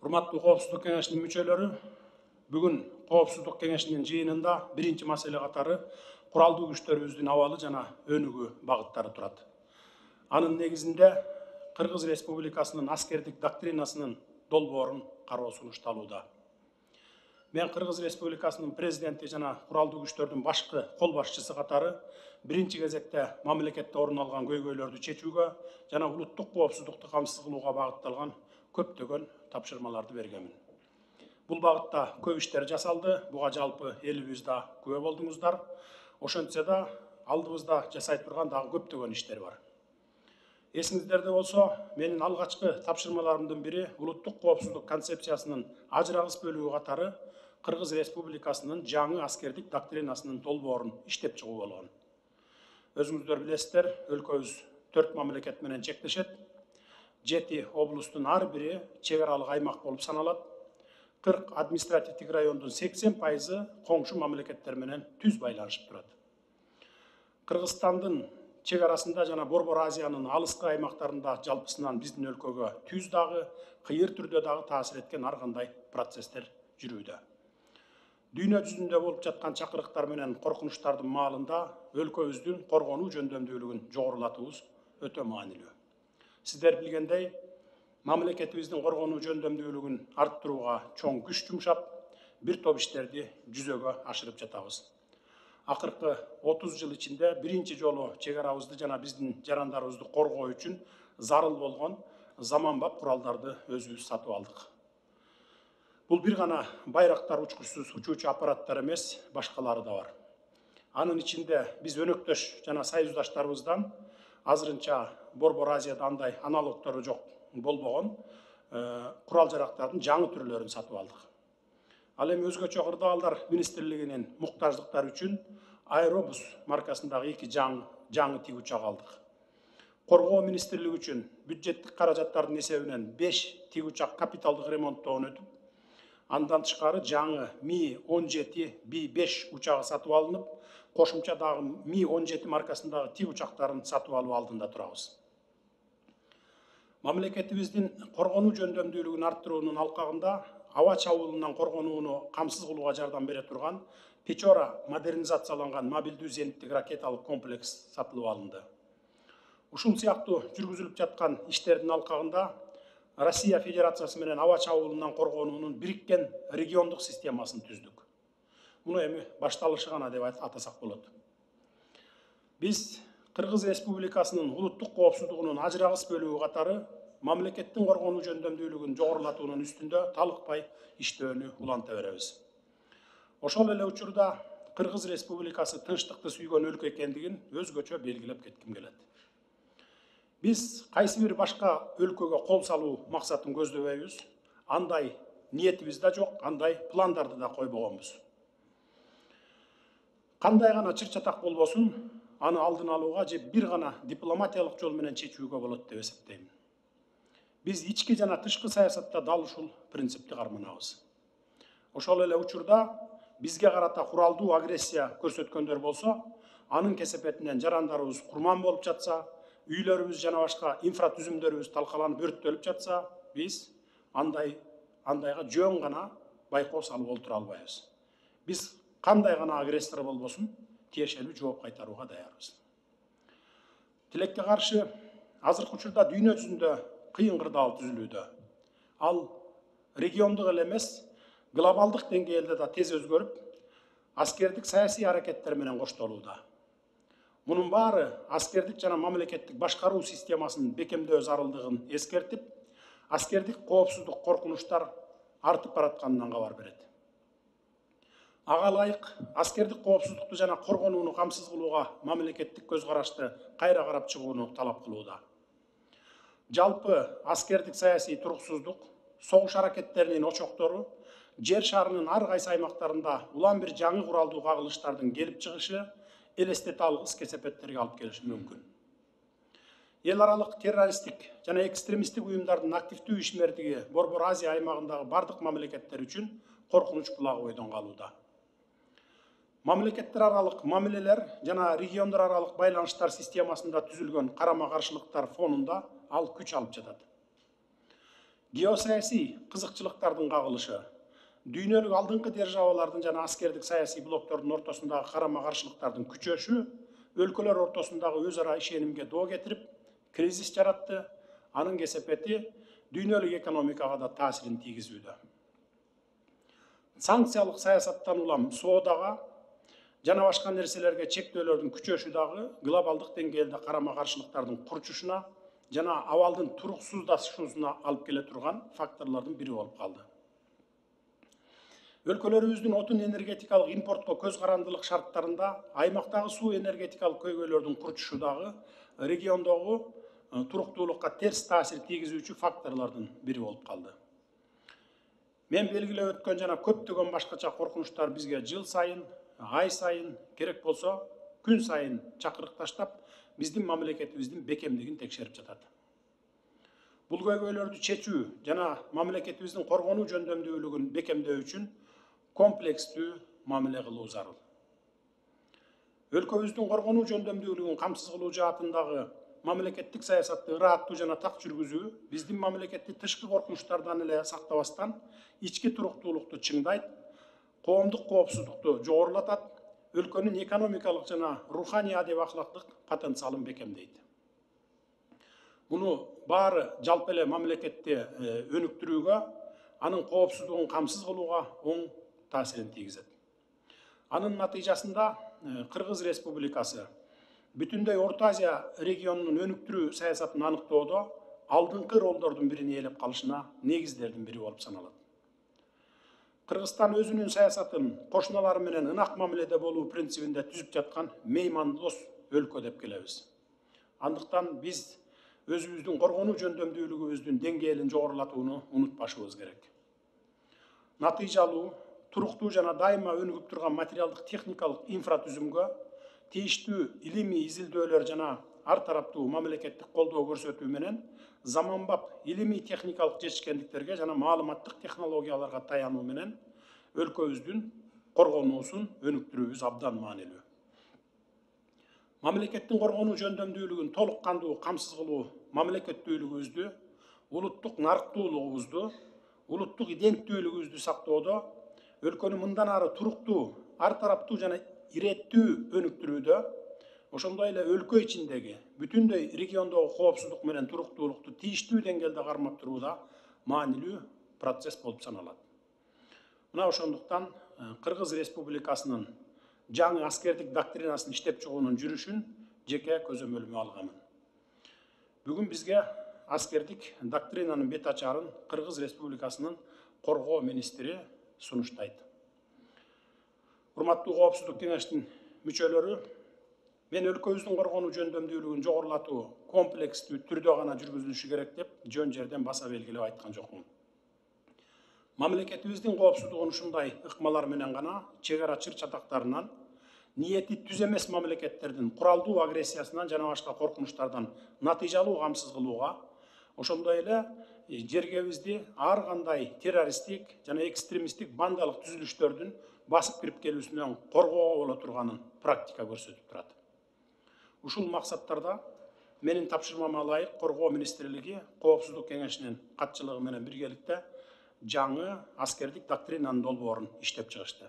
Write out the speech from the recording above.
Урматтуу Коопсуздук кеңешинин мүчөлөрү, бүгүн Коопсуздук кеңешинин жыйынында биринчи маселе катары куралдуу күчтөрүбүздүн абалы жана өнүгүү багыттары турат. Анын негизинде Кыргыз Республикасынын аскердик доктринасынын долбоорун кароо сунушталууда. Мен Кыргыз Республикасынын президенти жана куралдуу күчтөрдүн башкы кол башчысы катары биринчи кезекте мамлекетте орун алган көйгөйлөрдү чечүүгө жана улуттук коопсуздукту камсыз кылууга багытталган көптөгөн тапшырмаларды бергенмин. Бул багытта көп иштер жасалды, буга жалпы элибиз да күбө болдуңуздар. Ошентсе да алдыбызда жасай турган дагы көптөгөн иштер бар. Эсиңиздерде болсо, менин алгачкы тапшырмаларымдын бири улуттук коопсуздук концепциясынын ажырагыс бөлүгү катары Кыргыз Республикасынын жаңы аскердик доктринасынын долбоорун иштеп чыгуу болгон. Өзүңүздөр билесиздер, өлкөбүз 4 мамлекет менен чектешет. 7 облустун ар бири чек аралык аймак болуп саналат. 40 административдик райондун 80% коңшу мамлекеттер менен түз байланышып турат. Кыргызстандын чек арасында жана Борбор Азиянын алыскы аймактарында жалпысынан биздин өлкөгө түз дагы, кыйыр түрдө дагы таасир эткен ар кандай процесстер жүрүүдө. Дүйнө жүзүндө болуп жаткан чакырыктар менен коркунучтардын маалында өлкөбүздүн коргонуу жөндөмдүүлүгүн жогорулатуубуз өтө маанилүү. Сиздер билгендей, мамлекетибиздин коргонуу жөндөмдүүлүгүн арттырууга чоң күч жумшап, бир топ иштерди жүзөгө ашырып жатабыз. Акыркы 30 жыл ичинде биринчи жолу чек арабызды жана биздин жарандарыбызды коргоо үчүн зарыл болгон заманбап куралдарды өзүбүз сатып алдык. Бул бир гана байрактар учкучсуз учуучу аппараттар эмес, башкалары да бар. Анын ичинде биз өнөктөш жана союздаштарыбыздан азырынча Борбор Азияда андай аналогтору жок болбогон курал жарактардын жаңы түрлөрүн сатып алдык. Ал эми өзгөчө кырдаалдар министрлигинин муктаждыктары үчүн Аэробус маркасындагы 2 жаңы тиг учак алдык. Коргоо министрлиги үчүн бюджеттик каражаттардын эсебинен 5 тиг учак капиталдык ремонттоон өтүп, андан тышкары жаңы Ми-17 Би-5 учагы сатып алынып, кошумча дагы Ми-17 маркасындагы тиг учактарын сатып алуу алдында турабыз. Мамлекетибиздин коргонуу жөндөмдүүлүгүн арттыруунун алкагында аба чабуулунан коргонууну камсыз кылууга жардам бере турган Печора модернизацияланган мобилдүү зениттик ракеталык комплекс сатылып алынды. Ушул сыяктуу жүргүзүлүп жаткан иштердин алкагында Россия Федерациясы менен аба чабуулунан коргонуунун бириккен региондук системасын түздүк. Муну эми башталышы гана деп атасак болот. Биз Кыргыз Республикасынын улуттук коопсуздугунун ажырагыс бөлүгү катары мамлекеттин коргонуу жөндөмдүүлүгүн жогорулатуунун үстүндө талыкпай иштөөнү уланта беребиз. Ошол эле учурда Кыргыз Республикасы тынчтыкты сүйгөн өлкө экендигин өзгөчө белгилеп кетким келет. Биз кайсы бир башка өлкөгө кол салуу максатын көздөбөйбүз, андай ниетибиз да жок, андай пландарды да койбогонбуз. Кандай гана чыр-чатак болбосун, аны алдын алууга же бир гана дипломатиялык жол менен чечүүгө болот деп эсептейм. Биз ички жана тышкы саясатта дал ушул принципти карманабыз. Ошол эле учурда бизге карата куралдуу агрессия көрсөткөндөр болсо, анын кесепетинен жарандарыбыз курман болуп жатса, үйлөрүбүз жана башка инфратүзүмдөрүбүз талкаланып өрттөлүп жатса, биз андайга жөн гана байкоо салып олтура албайбыз. Биз кандай гана агрессор болбосун, тиешелүү жооп кайтарууга даярбыз. Тилекке каршы, азыркы учурда дүйнө жүзүндө кыйын кырдаал түзүлүүдө. Ал региондук эле эмес, глобалдык деңгээлде да тез өзгөрүп, аскердик саясий аракеттер менен коштолууда. Мунун баары аскердик жана мамлекеттик башкаруу системасынын бекемдөө зарылдыгын эскертип, аскердик коопсуздук коркунучтар артып баратканынан кабар берет. Ага ылайык аскердик коопсуздукту жана коргонууну камсыз кылууга мамлекеттик көз карашты кайра карап чыгууну талап кылууда. Жалпы аскердик саясий туруксуздук, согуш аракеттеринин очоктору жер шарынын ар кайсы аймактарында улам бир жаңы куралдуу кагылыштардын келип чыгышы элестете алгыс кесепеттерге алып келиши мүмкүн. Эл аралык террористтик жана экстремисттик уюмдардын активдүү ишмердиги Борбор Азия аймагындагы бардык мамлекеттер үчүн коркунуч булагы бойдон калууда. Мамлекеттер аралык мамилелер жана региондор аралык байланыштар системасында түзүлгөн карама-каршылыктар фонунда ал күч алып жатат. Геосаясий кызыкчылыктардын кагылышы, дүйнөлүк алдыңкы державалардын жана аскердик саясий блоктордун ортосундагы карама каршылыктардын күчөшү өлкөлөр ортосундагы өз ара ишенимге доо кетирип, кризис жаратты. Анын кесепети дүйнөлүк экономикага да таасирин тийгизүүдө. Санкциялык саясаттан улам соодага жана башка нерселерге чектөөлөрдүн күчөшү дагы глобалдык деңгээлде карама каршылыктардын курчушуна жана абалдын туруксуздашуусуна алып келе турган факторлордун бири болуп калды. Өлкөлөрүбүздүн отун энергетикалык импортко көз карандылык шарттарында аймактагы суу энергетикалык көйгөйлөрдүн курчушу дагы региондогу туруктуулукка терс таасир тийгизүүчү факторлордун бири болуп калды. Мен белгилеп өткөн жана көптөгөн башкача коркунучтар бизге жыл сайын, ай сайын, керек болсо күн сайын чакырык таштап, биздин мамлекетибиздин бекемдигин текшерип жатат. Бул көйгөйлөрдү чечүү жана мамлекетибиздин коргонуу жөндөмдүүлүгүн бекемдөө үчүн комплекстүү мамиле кылуу зарыл. Өлкөбүздүн коргонуу жөндөмдүүлүгүн камсыз кылуу жаатындагы мамлекеттик саясатты ырааттуу жана так жүргүзүү биздин мамлекетти тышкы коркунучтардан эле сактабастан ички туруктуулукту чыңдайт, коомдук коопсуздукту жогорулатат, өлкөнүн экономикалык жана руханий адеп ахлактык потенциалын бекемдейт. Муну баары жалпы эле мамлекетти өнүктүрүүгө, анын коопсуздугун камсыз кылууга оң таасирин тийгизет. Анын натыйжасында Кыргыз Республикасы бүтүндөй Орто Азия регионунун өнүктүрүү саясатын аныктоодо алдыңкы ролдордун бирин ээлеп калышына негиздердин бири болуп саналат. Кыргызстан өзүнүн саясатын кошуналары менен ынак мамиледе болуу принцибинде түзүп жаткан меймандос өлкө деп келебиз. Андыктан биз өзүбүздүн коргонуу жөндөмдүүлүгүбүздүн деңгээлин жогорулатууну унутпашыбыз керек. Натыйжалуу, туруктуу жана дайыма өнүгүп турган материалдык техникалык инфратүзүмгө тийиштүү илимий изилдөөлөр жана ар тараптуу мамлекеттик колдоо көрсөтүү менен заманбап илимий техникалык жетишкендиктерге жана маалыматтык технологияларга таянуу менен өлкөбүздүн коргонуусун өнүктүрүүбүз абдан маанилүү. Мамлекеттин коргонуу жөндөмдүүлүгүн толук кандуу камсыз кылуу мамлекеттүүлүгүбүздү, улуттук нарыктуулугубузду, улуттук иденттүүлүгүбүздү сактоодо, өлкөнү мындан ары туруктуу, ар тараптуу жана иреттүү өнүктүрүүдө, ошондой эле өлкө ичиндеги бүтүндөй региондогу коопсуздук менен туруктуулукту тийиштүү деңгээлде кармап турууда маанилүү процесс болуп саналат. Мына ошондуктан Кыргыз Республикасынын жаңы аскердик доктринасын иштеп чыгуунун жүрүшүн жеке көзөмөлүмө алганмын. Бүгүн бизге аскердик доктринанын бет ачарын Кыргыз Республикасынын коргоо министри сунуштайт. Урматтуу Коопсуздук кеңештин мүчөлөрү, мен өлкөбүздүн коргонуу жөндөмдүүлүгүн жогорулатуу комплекстүү түрдө гана жүргүзүлүшү керек деп жөн жерден баса белгилеп айткан жокмун. Мамлекетибиздин коопсуздугун ушундай ыкмалар менен гана чек ара чыр чатактарынан, ниети түз эмес мамлекеттердин куралдуу агрессиясынан жана башка коркунучтардан натыйжалуу камсыз кылууга, ошондой эле жергебизди ар кандай террористтик жана экстремисттик бандалык түзүлүштөрдүн басып кирип келүүсүнөн коргоого боло турганын практика көрсөтүп турат. Ушул максаттарда менин тапшырмама ылайык Коргоо министрлиги Коопсуздук кеңешинин катчылыгы менен биргеликте жаңы аскердик доктринанын долбоорун иштеп чыгышты.